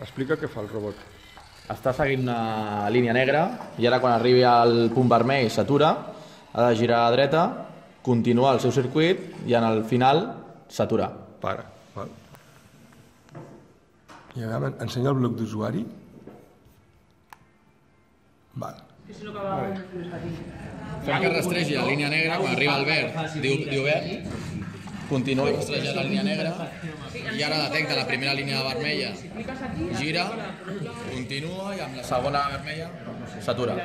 Explica què fa el robot. Està seguint una línia negra i ara quan arribi al punt vermell s'atura, ha de girar a dreta, continuar el seu circuit i en el final s'atura. Para. Val. I ara ensenya el bloc d'usuari. Val. Fem que rastregi la línia negra, quan arriba al verd diu verd, continua rastrejant la línia negra i ara detecta la primera línia vermella, gira, continua i amb la segona vermella s'atura.